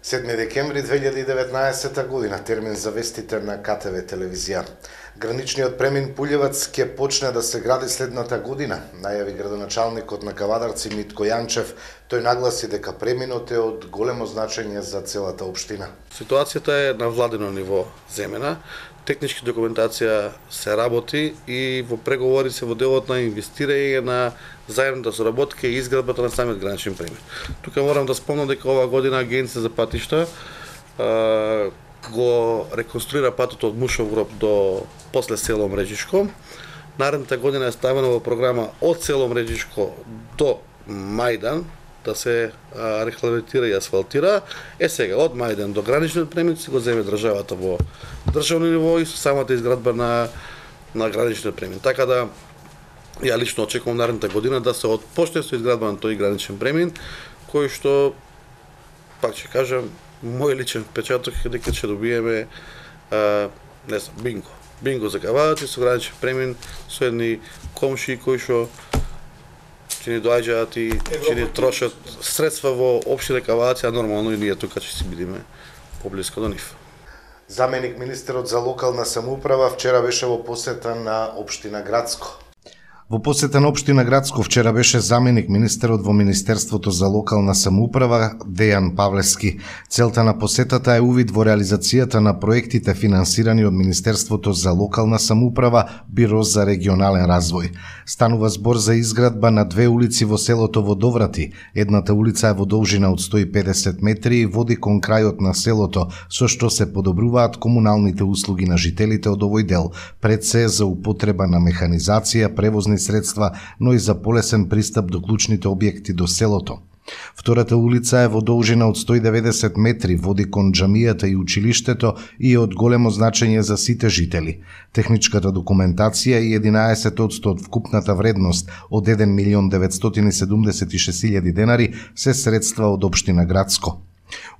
7 декември 2019 година, термин за вестите на КТВ телевизија. Граничниот премин Пулјевац ќе почне да се гради следната година, најави градоначалникот на Кавадарци Митко Јанчев. Тој нагласи дека преминот е од големо значење за целата општина. Ситуацијата е на владино ниво земена. Технички документација се работи и во преговори се во делот на инвестирање на заедната соработка и изградбата на самиот граничен премин. Тука морам да спомнам дека оваа година Агенција за патишта го реконструира патот од Мушов гроб до после село Мреđишко. Наредната година е ставена во програма од село Мреđишко до Мајдан да се рехабилитира и асфалтира. Сега од Мајдан до граничниот премин се го земе државата во државно ниво и со самата изградба на граничниот премин. Така да ја лично очекувам наредната година да се отпочне со изградба на тој граничен премин, кој што, пак ќе кажам, мој личен впечаток е дека ќе добиеме бинго за Кавадарци со граничен премин со едни комшии кои што ќе ни доаѓаат и ќе ни трошат средства во општина Кавадарци, а нормално и ние тука ќе си бидеме поблиско до нив. Заменик министерот за локална самоуправа вчера беше во посета на општина Градско. Во посета на општина Градско вчера беше заменик министерот во Министерството за локална самоуправа Дејан Павлевски. Целта на посетата е увид во реализацијата на проектите финансирани од Министерството за локална самоуправа, Биро за регионален развој. Станува збор за изградба на две улици во селото Водоврати. Едната улица е во должина од 150 метри и води кон крајот на селото, со што се подобруваат комуналните услуги на жителите од овој дел, пред се за употреба на механизација, превозни средства, но и за полесен пристап до клучните објекти до селото. Втората улица е во должина од 190 метри, води кон џамијата и училиштето и е од големо значење за сите жители. Техничката документација и 11% од вкупната вредност од 1.976.000 денари се средства од општина Градско.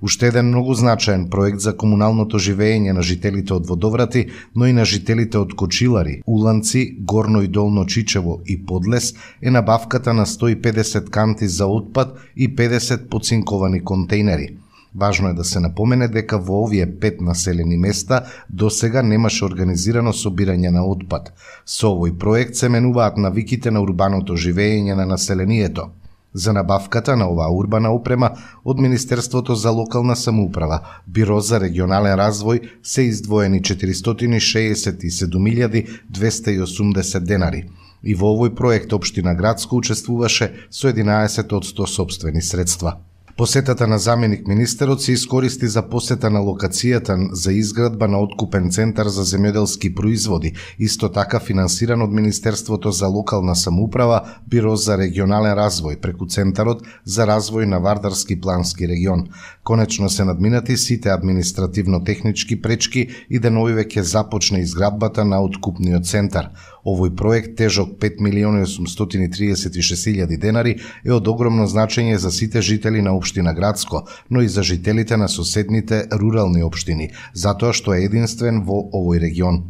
Уште еден многу значаен проект за комуналното живење на жителите од Водоврати, но и на жителите од Кочилари, Уланци, Горно и Долно Чичево и Подлес е набавката на 150 канти за отпад и 50 поцинковани контейнери. Важно е да се напомене дека во овие 5 населени места досега немаше организирано собирање на отпад. Со овој проект се менуваат навиките на урбаното живење на населението. За набавката на оваа урбана опрема од Министерството за локална самоуправа, Биро за регионален развој се издвоени 467.280 денари. И во овој проект општина Градско учествуваше со 11% сопствени средства. Посетата на заменик министерот се искористи за посета на локацијата за изградба на откупен центар за земјоделски производи, исто така финансиран од Министерството за локална самоуправа, Биро за регионален развој, преку Центарот за развој на Вардарски плански регион. Конечно се надминати сите административно-технички пречки и денови веќе започне изградбата на откупниот центар. Овој проект, тежок 5.836.000 денари, е од огромно значење за сите жители на општина Градско, но и за жителите на соседните рурални општини, затоа што е единствен во овој регион.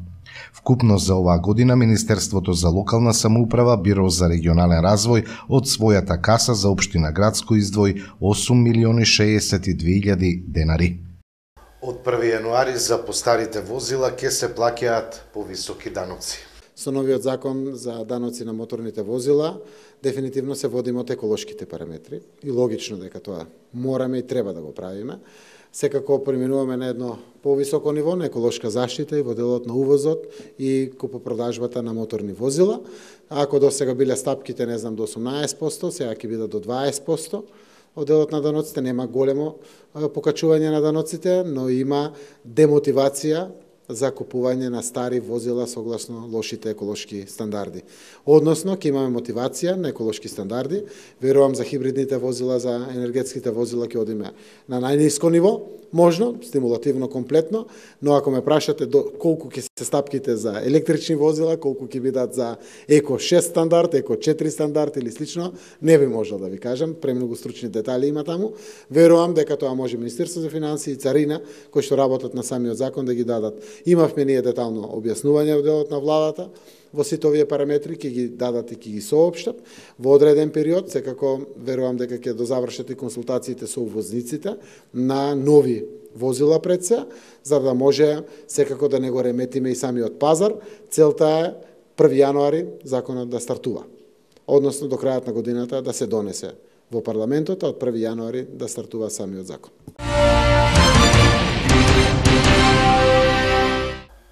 Вкупно за оваа година Министерството за локална самоуправа, Биро за регионален развој од својата каса за општина Градско издвои 8.062.000 денари. Од 1 јануари за постарите возила ќе се плаќаат повисоки даноци. Со новиот закон за даноци на моторните возила, дефинитивно се водиме од еколошките параметри и логично дека тоа мораме и треба да го правиме. Секако преминуваме на едно повисоко ниво на еколошка заштита и во делот на увозот и купопродажбата на моторни возила. Ако до сега биле стапките, не знам, до 18%, сега ќе бидат до 20%. Од делот на даноците нема големо покачување на даноците, но има демотивација за купување на стари возила согласно лошите еколошки стандарди. Односно, ќе имаме мотивација на еколошки стандарди. Верувам за хибридните возила, за енергетските возила ќе одиме на најниско ниво, Можно, стимулативно комплетно, но ако ме прашате колку ќе се стапките за електрични возила, колку ќе бидат за Еко 6 стандард, Еко 4 стандард или слично, не би можел да ви кажам, премногу стручни детали има таму. Верувам дека тоа може Министерство за финансии и Царина, кои што работат на самиот закон, да ги дадат. Имавме ние детално објаснување во делот на владата, во сите овие параметри, ќе ги дадат и ќе ги соопштат во одреден период. Секако верувам дека ќе дозавршат и консултациите со увозниците на нови возила пред се, за да може секако да не го реметиме и самиот пазар. Целта е 1 јануари законот да стартува, односно до крајот на годината да се донесе во парламентот, а од 1 јануари да стартува самиот закон.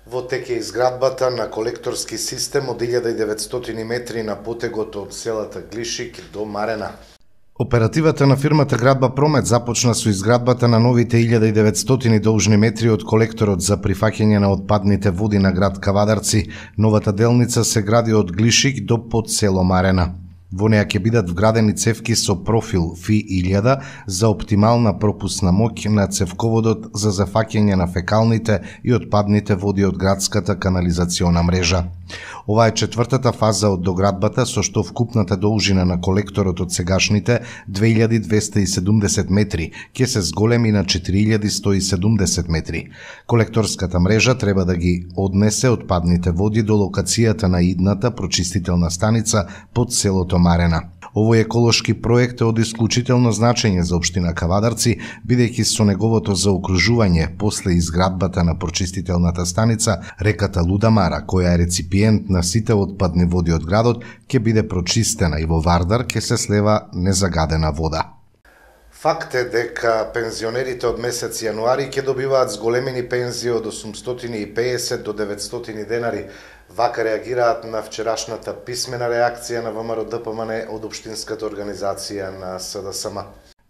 Во тек е изградбата на колекторски систем од 1900 метри на потегот од селата Глишик до Марена. Оперативата на фирмата Градба Промет започна со изградбата на новите 1900 должни метри од колекторот за прифаќање на отпадните води на град Кавадарци. Новата делница се гради од Глишик до под село Марена. Во неја ќе бидат вградени цевки со профил Фи 1000 за оптимална пропусна моќ на цевководот за зафаќање на фекалните и отпадните води од градската канализациона мрежа. Ова е четвртата фаза од доградбата, со што вкупната должина на колекторот од сегашните 2270 метри ќе се зголеми на 4170 метри. Колекторската мрежа треба да ги однесе отпадните води до локацијата на идната прочистителна станица под селото Марена. Овој еколошки проект е од исклучително значење за општина Кавадарци, бидејќи со неговото заокружување после изградбата на прочистителната станица, реката Лудамара, која е реципиент на сите отпадни води од градот, ќе биде прочистена и во Вардар ќе се слева незагадена вода. Факт е дека пензионерите од месец јануари ќе добиваат зголемени пензии од 850 до 900 денари. Вака реагираат на вчерашната писмена реакција на ВМРО ДПМН од Општинската организација на СДСМ.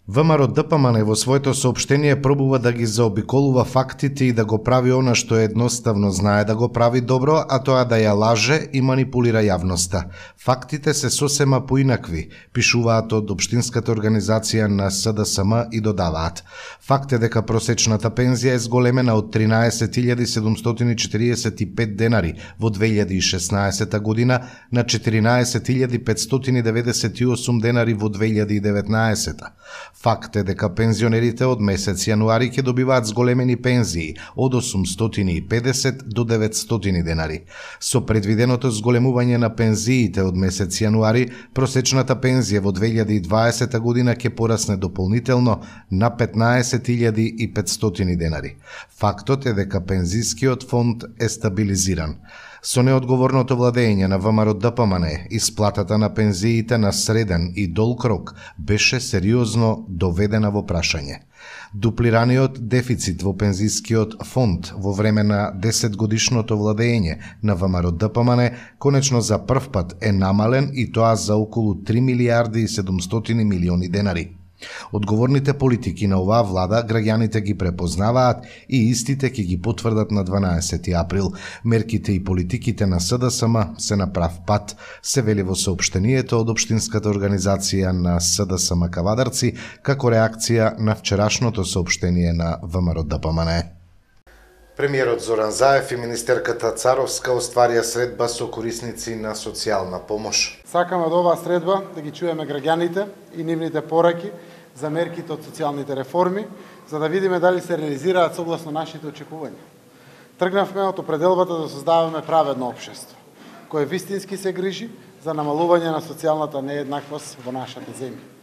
ВМРО ДПМН во своето соопштение пробува да ги заобиколува фактите и да го прави она што едноставно знае да го прави добро, а тоа да ја лаже и манипулира јавноста. Фактите се сосема поинакви, пишуваат од Општинската организација на СДСМ и додаваат. Факт е дека просечната пензија е зголемена од 13.745 денари во 2016 година на 14.598 денари во 2019. Факт е дека пензионерите од месец јануари ќе добиваат зголемени пензии од 850 до 900 денари. Со предвиденото зголемување на пензиите од месец јануари, просечната пензија во 2020 година ќе порасне дополнително на 15.500 денари. Фактот е дека пензискиот фонд е стабилизиран. Со неодговорното владење на ВМРО ДПМН, исплатата на пензиите на среден и долг рок беше сериозно доведена во прашање. Дуплираниот дефицит во пензискиот фонд во време на 10-годишното владење на ВМРО ДПМН конечно за прв пат е намален и тоа за околу 3 милиарди и 700 милиони денари. Одговорните политики на оваа влада граѓаните ги препознаваат и истите ќе ги потврдат на 12 април. Мерките и политиките на СДСМ се на прав пат, се вели во соопштението од Општинската организација на СДСМ Кавадарци како реакција на вчерашното соопштение на ВМРО ДПМН. Премиерот Зоран Заев и министерката Царовска остварија средба со корисници на социјална помош. Сакаме од оваа средба да ги чуеме граѓаните и нивните пораки за мерките од социјалните реформи, за да видиме дали се реализираат согласно нашите очекувања. Тргнавме од определбата да создаваме праведно општество, кое вистински се грижи за намалување на социјалната нееднаквост во нашата земја.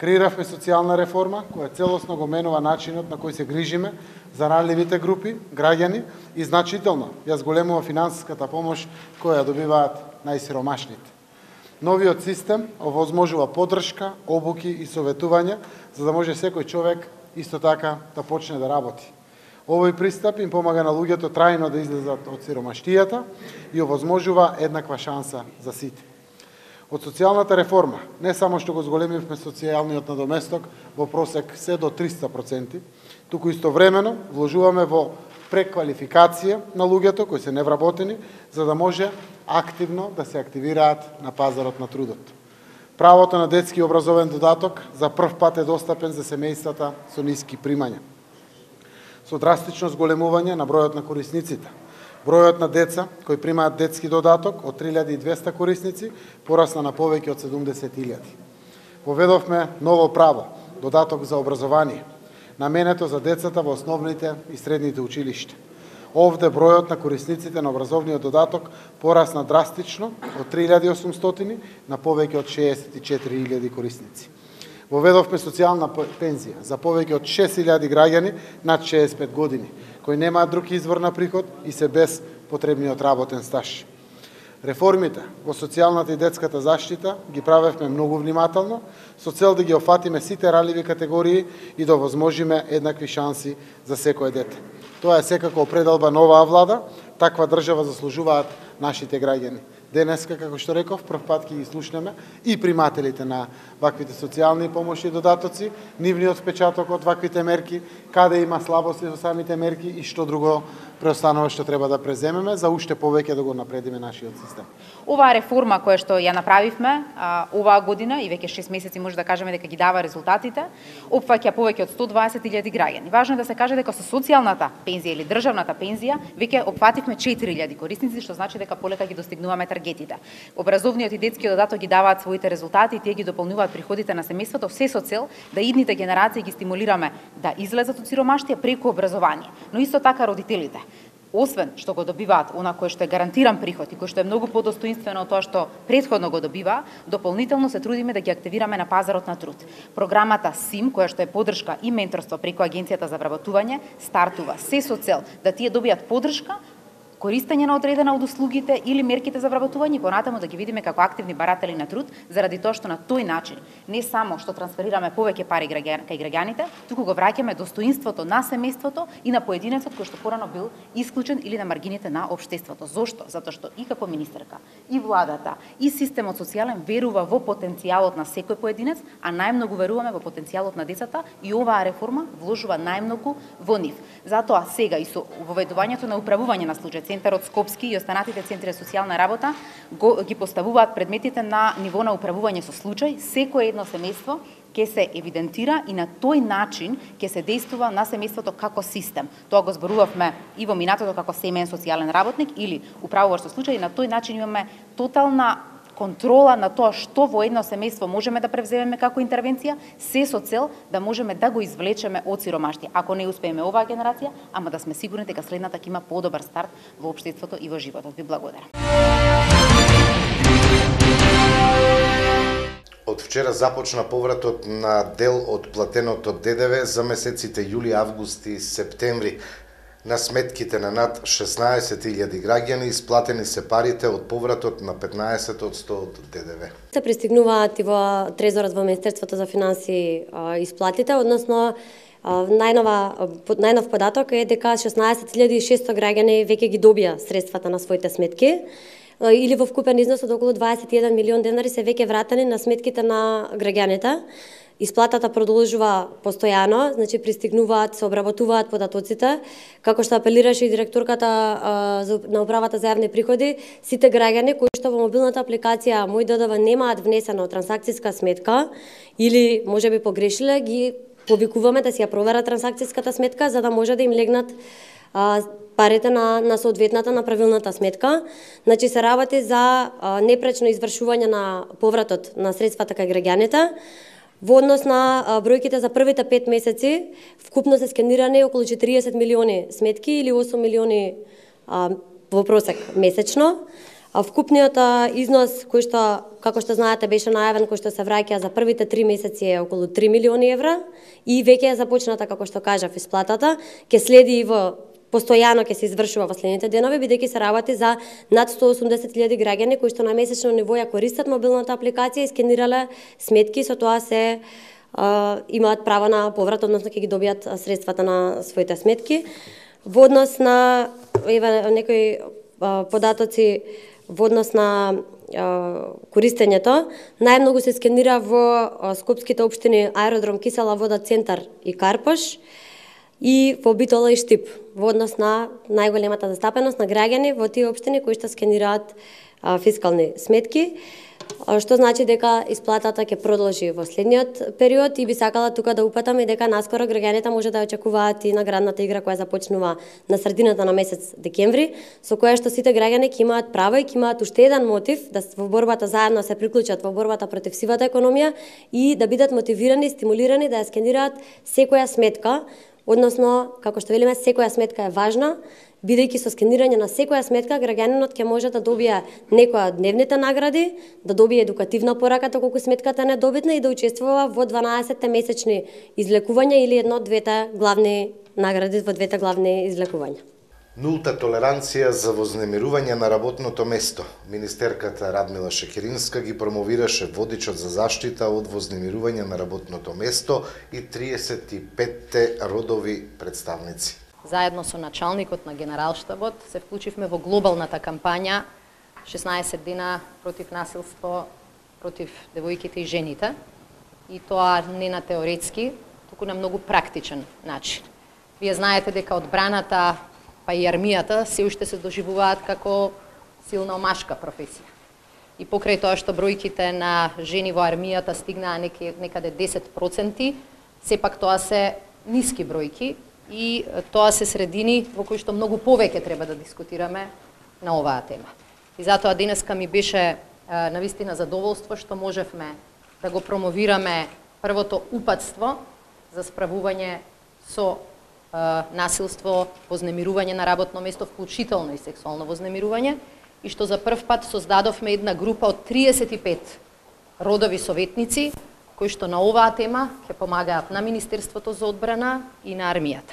Креиравме социјална реформа која целосно го менува начинот на кој се грижиме за ранливите групи, граѓани и значително ја зголемува финансиската помош која ја добиваат најсиромашните. Новиот систем овозможува поддршка, обуки и советувања за да може секој човек исто така да почне да работи. Овој пристап им помага на луѓето трајно да излезат од сиромаштијата и овозможува еднаква шанса за сите. Од социјалната реформа, не само што го зголемивме социјалниот надоместок во просек се до 300%, туку истовремено вложуваме во преквалификација на луѓето кои се невработени, за да може активно да се активираат на пазарот на трудот. Правото на детски образовен додаток за прв пат е достапен за семејствата со ниски примања. со драстично зголемување на бројот на корисниците. Бројот на деца кои примаат детски додаток од 3200 корисници порасна на повеќе од 70.000. Поведовме ново право, додаток за образование, наменето за децата во основните и средните училишта. Овде бројот на корисниците на образовниот додаток порасна драстично од 3800 на повеќе од 64.000 корисници. Воведовме социјална пензија за повеќе од 6.000 граѓани над 65 години, кои немаат друг извор на приход и се без потребниот работен стаж. Реформите во социјалната и детската заштита ги правевме многу внимателно, со цел да ги офатиме сите раливи категории и да возможиме еднакви шанси за секое дете. Тоа е секако определба на оваа влада, таква држава заслужуваат нашите граѓани. Денеска, како што реков, прв пат ќе ги слушнеме и примателите на ваквите социјални помоши и додатоци, нивниот впечаток од ваквите мерки, каде има слабости во самите мерки и што друго преостанува што треба да преземеме за уште повеќе да го напредиме нашиот систем. Оваа реформа која што ја направивме оваа година и веќе 6 месеци може да кажеме дека ги дава резултатите, опфаќа повеќе од 120.000 граѓани. Важно е да се каже дека со социјалната пензија или државната пензија веќе опфативме 4.000 корисници, што значи дека полека ги достигнуваме таргетите. Образовниот и детскиот додаток ги даваат своите резултати и тие ги дополнуваат приходите на семејството, се со цел да идните генерации ги стимулираме да излезат од сиромаштија преку образование. Но исто така родителите, освен што го добиваат она кое што е гарантиран приход и кое што е многу подостоинствено од тоа што претходно го добива, дополнително се трудиме да ги активираме на пазарот на труд. Програмата СИМ, која што е поддршка и менторство преку Агенцијата за вработување, стартува се со цел да тие добијат поддршка, користење на одредена од услугите или мерките за вработување и понатаму да ги видиме како активни баратели на труд, заради тоа што на тој начин не само што трансферираме повеќе пари кај граѓаните, туку го враќаме достоинството на семејството и на поединецот кој што порано бил исклучен или на маргините на општеството. Зошто? Затоа што и како министерка, и владата, и системот социјален верува во потенцијалот на секој поединец, а најмногу веруваме во потенцијалот на децата и оваа реформа вложува најмногу во нив. Затоа сега и со воведувањето на управување на случај Центарот Скопски и останатите центри за социјална работа ги поставуваат предметите на ниво на управување со случај. Секое едно семејство ќе се евидентира и на тој начин ќе се действува на семејството како систем. Тоа го зборувавме и во минатото како семеен социјален работник или управуваш со случај и на тој начин имаме тотална контрола на тоа што во едно семејство можеме да превземеме како интервенција, се со цел да можеме да го извлечеме од сиромаштие. Ако не успееме оваа генерација, ама да сме сигурни дека следната ќе има подобар старт во општеството и во животот. Ви благодарам. Од вчера започна повратот на дел од платеното ДДВ за месеците јули, август и септември. На сметките на над 16.000 граѓани исплатени се парите од повратот на 15% од ДДВ. Се пристигнуваат и во Трезорот во Министерството за финансии исплатите, односно најнов податок е дека 16.600 граѓани веќе ги добија средствата на своите сметки или во вкупен износ од околу 21 милион денари се веќе вратени на сметките на граѓаните. Исплатата продолжува постојано, значи пристигнуваат, се обработуваат податоците, како што апелираше и директорката на управата за јавни приходи, сите граѓани кои што во мобилната апликација Мој ДДВ немаат внесено трансакцијска сметка или можеби погрешиле, ги повикуваме да си ја проверат трансакцијската сметка за да може да им легнат парите на соодветната, на правилната сметка. Значи се работи за непречно извршување на повратот на средствата кај граѓаните. Во однос на бројките за првите 5 месеци, вкупно се скенирани околу 40 милиони сметки или 8 милиони во просек месечно. Вкупниот износ кој што, како што знаете, беше најавен, кој што се враќа за првите 3 месеци е околу 3 милиони евра и веќе е започната, како што кажав, исплатата, ќе следи и во постојано ќе се извршува во следните денови, бидејќи се работи за над 180.000 граѓани кои што на месечно ниво ја користат мобилната апликација и скенирале сметки, со тоа се имаат право на поврат, односно ќе ги добијат средствата на своите сметки. Во однос на некои податоци во однос на користењето, најмногу се скенира во скопските општини Аеродром, Кисела вода, Центар и Карпош, и во Битола и Штип, во однос на најголемата застапеност на граѓани во тие општини кои што скенираат фискални сметки. што значи дека исплатата ќе продолжи во следниот период и би сакала тука да упатам и дека наскоро граѓаните може да очекуваат и наградната игра која започнува на средината на месец декември, со која што сите граѓани ќе имаат право и ќе имаат уште еден мотив да во борбата заедно се приклучат во борбата против сивата економија и да бидат мотивирани, стимулирани да ја скенираат секоја сметка, односно како што велиме секоја сметка е важна. Бидејќи со скенирање на секоја сметка, граѓанинот ќе може да добие некоја од дневните награди, да добие едукативна порака доколку сметката не е добитна и да учествува во 12 месечни излекувања или едно од двете главни награди во двете главни излекувања. Нулта толеранција за вознемирување на работното место. Министерката Радмила Шекеринска ги промовираше водичот за заштита од вознемирување на работното место и 35 родови представници. Заедно со началникот на Генералштабот се вклучивме во глобалната кампања 16 дена против насилство против девојките и жените. И тоа не на теоретски, туку на многу практичен начин. Вие знаете дека одбраната па и армијата се уште се доживуваат како силна омашка професија. И покрај тоа што бројките на жени во армијата стигнаа некаде 10%, сепак тоа се ниски бројки и тоа се средини во кои што многу повеќе треба да дискутираме на оваа тема. И затоа денеска ми беше навистина задоволство што можевме да го промовираме првото упатство за справување со насилство, вознемирување на работно место, вклучително и сексуално вознемирување, и што за прв пат создадовме една група од 35 родови советници, кои што на оваа тема ќе помагаат на Министерството за одбрана и на армијата.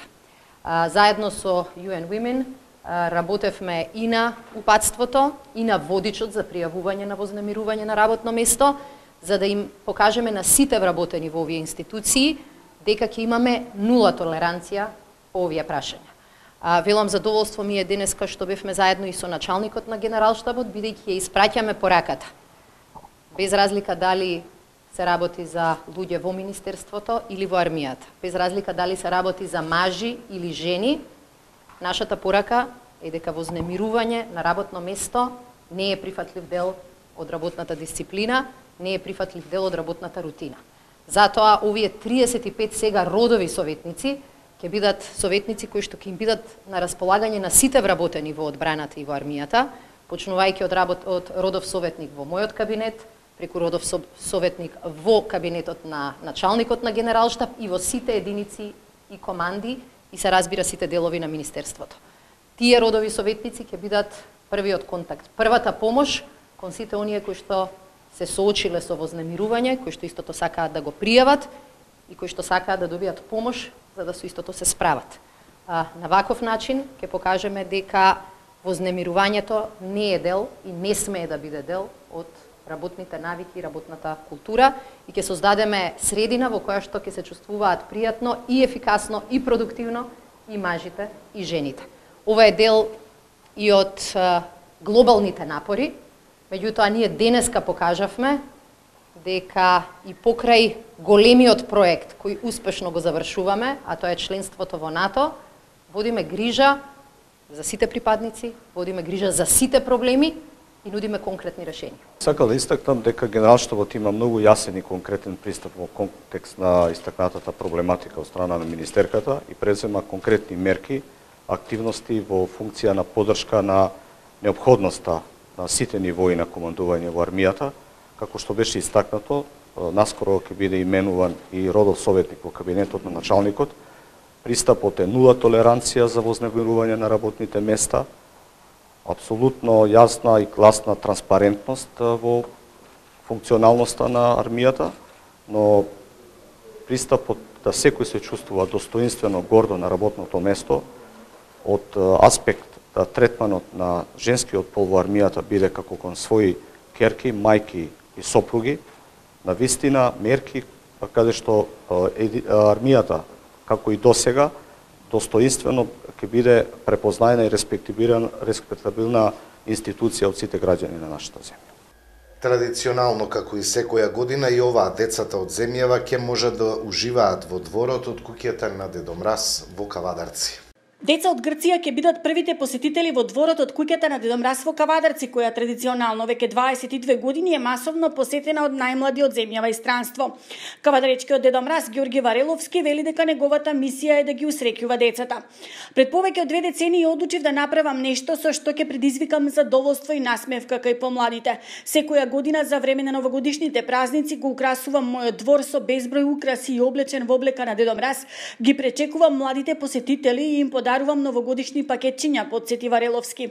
Заедно со UN Women работевме и на упатството, и на водичот за пријавување на вознемирување на работно место, за да им покажеме на сите вработени во овие институции дека ќе имаме нула толеранција по овие прашања. Велам задоволство ми е денеска што бевме заедно и со началникот на Генералштабот, бидејќи ја испраќаме пораката. Без разлика дали се работи за луѓе во Министерството или во армијата, без разлика дали се работи за мажи или жени, нашата порака е дека вознемирување на работно место не е прифатлив дел од работната дисциплина, не е прифатлив дел од работната рутина. Затоа овие 35 сега родови советници ќе бидат советници кои што ќе им бидат на располагање на сите вработени во одбраната и во армијата, почнувајќи од родов советник во мојот кабинет, преку родов советник во кабинетот на началникот на Генералштаб и во сите единици и команди и се разбира сите делови на Министерството. Тие родови советници ќе бидат првиот контакт, првата помош кон сите оние кои што се соочиле со вознемирување, кои што истото сакаат да го пријават и кои што сакаат да добијат помош за да со истото се справат. На ваков начин ќе покажеме дека вознемирувањето не е дел и не смее да биде дел од работните навики и работната култура и ќе создадеме средина во која што ќе се чувствуваат пријатно и ефикасно и продуктивно и мажите и жените. Ова е дел и од глобалните напори, меѓутоа ние денеска покажавме дека и покрај големиот проект кој успешно го завршуваме, а тоа е членството во НАТО, водиме грижа за сите припадници, водиме грижа за сите проблеми и нудиме конкретни решенија. Сакам да истакнам дека Генералштабот има многу јасен и конкретен пристап во контекст на истакнатата проблематика од страна на министерката и презема конкретни мерки, активности во функција на поддршка на неопходноста на сите нивои на командување во армијата, како што беше истакнато, наскоро ќе биде именуван и родов советник во кабинетот на началникот. Пристапот е нула толеранција за вознемирување на работните места, апсолутно јасна и гласна транспарентност во функционалноста на армијата, но пристапот да секој се чувствува достоинствено гордо на работното место, од аспект да третманот на женскиот пол во армијата биде како кон своји ќерки, мајки и сопруги, на вистина мерки каде што армијата, како и досега, достоинствено ќе биде препознаена и респектабилна институција од сите граѓани на нашата земја. Традиционално, како и секоја година, и оваа децата од земјава ќе можат да уживаат во дворот од куќата на Дедо Мраз во Кавадарци. Деца од Грција ќе бидат првите посетители во дворот од куќата на Дедо Мраз во Кавадарци, која традиционално веќе 22 години е масовно посетена од најмлади од земјава и странство. Кавадаречкиот Дедо Мраз Ѓорги Вареловски вели дека неговата мисија е да ги усреќува децата. Пред повеќе од 2 децении одлучив да направам нешто со што ќе предизвикам задоволство и насмевка кај помладите. Секоја година за време на новогодишните празници го украсувам мојот двор со безброј украси и облечен во облека на Дедо Мраз, ги пречекувам младите посетители и им подарувам новогодишни пакетчиња, подсети Вареловски.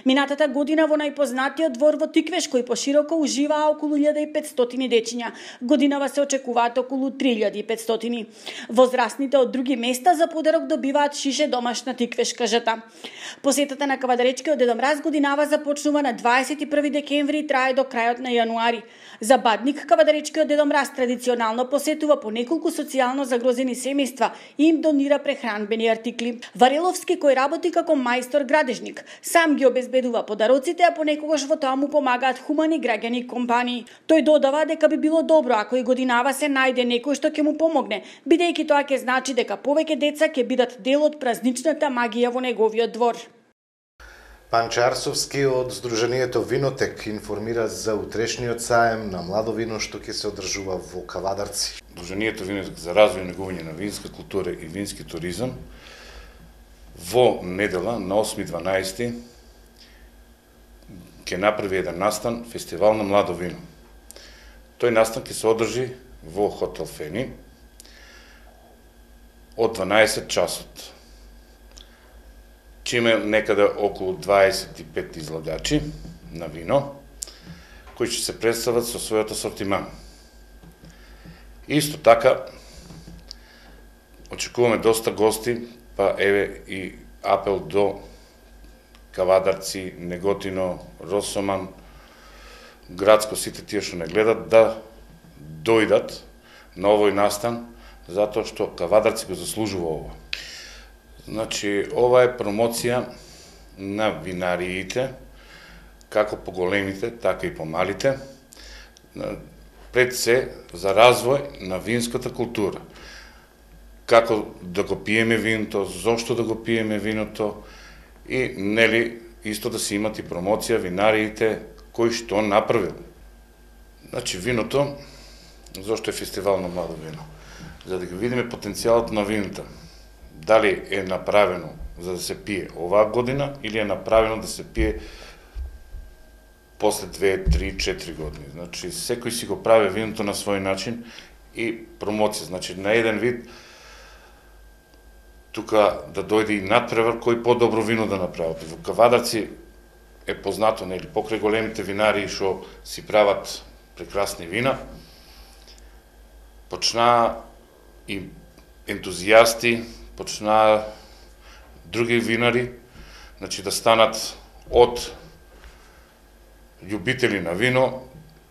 Минатата година во најпознатиот двор во Тиквеш, кој пошироко уживаа околу 1500 дечиња. Годинава се очекуваат околу 3500. Возрастните од други места за подарок добиваат шише домашна тиквешка жата. Посетата на Кавадаречкиот Дедо Мраз годинава започнува на 21 декември и трае до крајот на јануари. За Бадник, Кавадаречкиот Дедо Мраз традиционално посетува по неколку социјално загрозени семејства и им донира прехранбени артикли. Вареловски, кој работи како мајстор градежник, сам ги обезбедува подароците, а понекогаш во тоа му помагаат хумани граѓани и компании. Тој додава дека би било добро ако и годинава се најде некој што ќе му помогне, бидејќи тоа ќе значи дека повеќе деца ќе бидат дел од празничната магија во неговиот двор. Панче Арсовски од Сдруженијето Винотек информира за утрешниот саем на младо вино што ќе се одржува во Кавадарци. Сдруженијето Винотек за развој и негување на винска култура и вински туризам во недела на 8.12 ќе направи еден настан фестивал на младо вино. Тој настан ќе се одржи во хотел Фени од 12 часот. Ќе има некаде околу 25 излагачи на вино, кои ќе се представат со својот асортиман. Исто така, очекуваме доста гости, па еве и апел до Кавадарци, Неготино, Росоман, Градско, сите тие што не гледат, да дојдат на овој настан, затоа што Кавадарци го заслужува ова. Значи, ова е промоција на винариите, како по големите, така и по малите, пред се за развој на винската култура. Како да го пиеме виното, зошто да го пиеме виното и, нели, исто да се имат и промоција винариите кои што направил. Значи, виното, зошто е фестивал на младо вино? За да ги видиме потенцијалот на виното. Дали е направено за да се пие оваа година или е направено да се пие после 2, 3, 4 години. Значи, секој си го прави виното на свој начин и промоција. Значи, на еден вид тука да дојде и надпревар кој по-добро вино да направи. Во Кавадарци е познато, нели, покрај големите винари што си прават прекрасни вина, почнаа и ентузијасти, почнаа други винари, значи да станат од љубители на вино,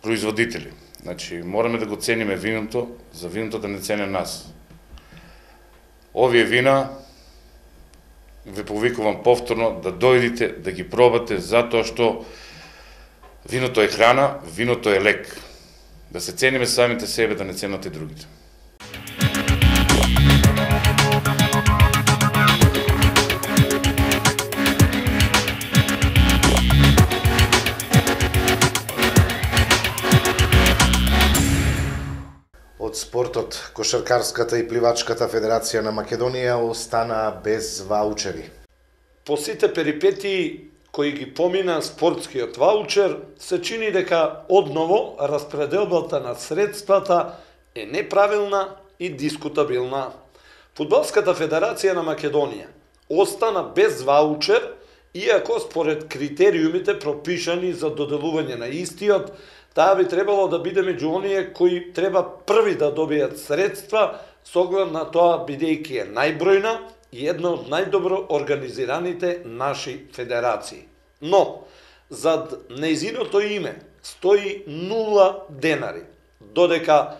производители. Значи, мораме да го цениме виното, за виното да не цене нас. Овие вина, ве повикувам повторно да дојдите, да ги пробате, затоа што виното е храна, виното е лек. Да се цениме самите себе, да не ценат и другите. Од спортот, Кошаркарската и Пливачката федерација на Македонија остана без ваучери. По сите перипетии кои ги помина спортскиот ваучер, се чини дека одново распределбата на средствата е неправилна и дискутабилна. Фудбалската федерација на Македонија остана без ваучер, иако според критериумите пропишани за доделување на истиот, таа би требало да биде меѓу оние кои треба први да добијат средства, с оглед на тоа бидејќи е најбројна и една од најдобро организираните наши федерации. Но, зад нејзиното име стои 0 денари, додека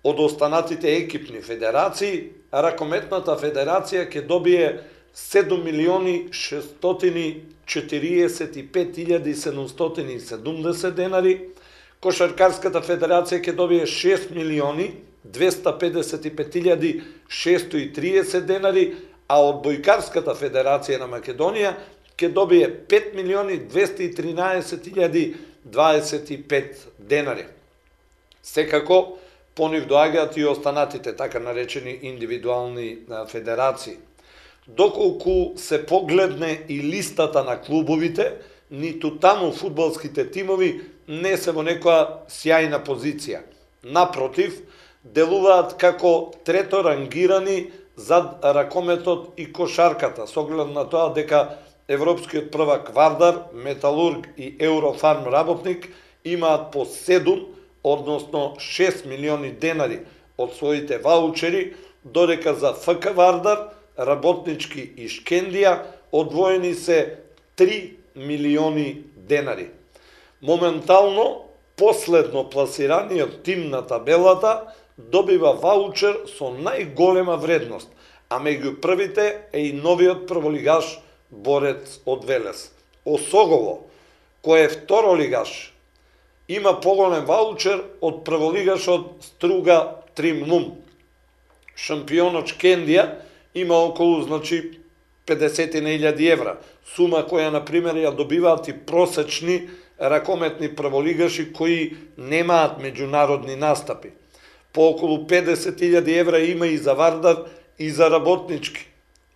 од останатите екипни федерации, Ракометната федерација ќе добие 7.645.770 денари, Кошаркарската федерација ќе добие 6.255.630 денари, а Одбојкарската федерација на Македонија ќе добие 5.213.025 денари. Секако, по нив доаѓаат и останатите, така наречени индивидуални федерации. Доколку се погледне и листата на клубовите, ниту таму фудбалските тимови не се во некоја сјајна позиција. Напротив, делуваат како треторангирани зад ракометот и кошарката, со оглед на тоа дека европскиот првак Вардар, Металург и Еврофарм работник имаат по 7, односно 6 милиони денари од своите ваучери, додека за ФК Вардар, Работнички и Шкендија одвоени се 3 милиони денари. Моментално, последно пласираниот тим на табелата добива ваучер со најголема вредност, а меѓу првите е и новиот прволигаш Борец од Велес. Осогово, кој е второлигаш, има поголем ваучер од прволигашот Струга Тримнум. Шампионот Шкендија има околу 50.000 евра, сума која, например, ја добиваат и просечни ракометни прволигаши кои немаат меѓународни настапи. По околу 50.000 евра има и за Вардар и за Работнички.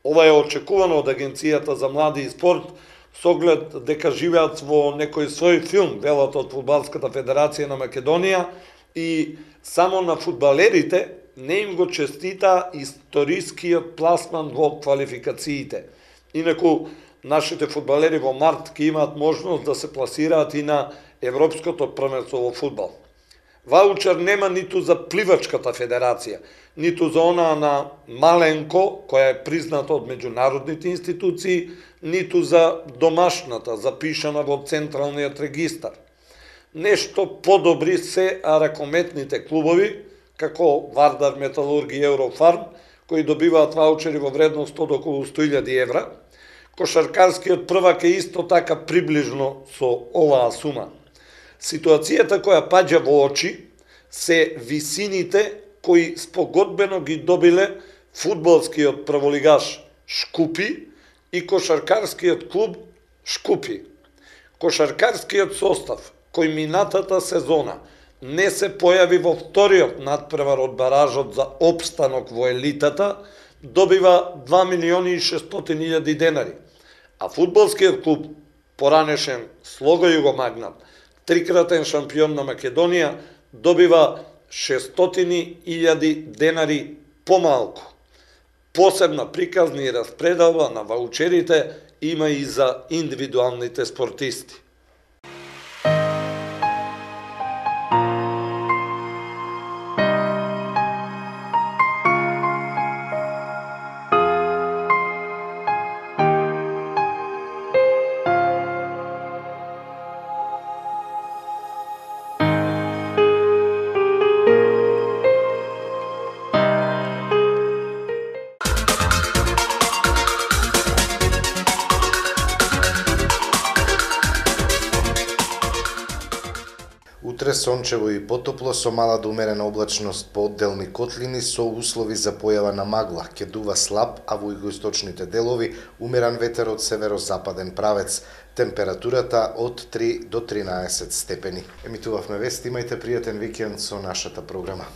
Ова е очекувано од Агенцијата за млади и спорт, со оглед дека живеат во некој свој филм, велат од Фудбалската федерација на Македонија, и само на фудбалерите не им го честита историскиот пласман во квалификациите. Инаку, нашите фудбалери во март ќе имаат можност да се пласираат и на Европското првенство во фудбал. Ваучер нема ниту за пливачката федерација, ниту за она на Маленко, која е призната од меѓународните институции, ниту за домашната, запишана во Централниот регистар. Нешто подобри се ракометните клубови, како Вардар, Металург и Еврофарм, кои добиваат ваучери во вредност од околу 100.000 евра. Кошаркарскиот првак е исто така приближно со оваа сума. Ситуацијата која паѓа во очи се висините кои спогодбено ги добиле фудбалскиот прволигаш Шкупи и кошаркарскиот клуб Шкупи. Кошаркарскиот состав кој минатата сезона не се појави во вториот надпревар од баражот за опстанок во елитата, добива 2.600.000 денари, а фудбалскиот клуб, поранешен Слога Југомагнат, трикратен шампион на Македонија, добива 600.000 денари помалку. Посебна приказна и распределба на ваучерите има и за индивидуалните спортисти. Утре сончево и потопло со мала до умерена облачност по одделни котлини со услови за појава на магла. Ќе дува слаб, а во југоисточните делови умерен ветер од северозападен правец. Температурата од 3 до 13 степени. Емитувавме вести, имајте пријатен викенд со нашата програма.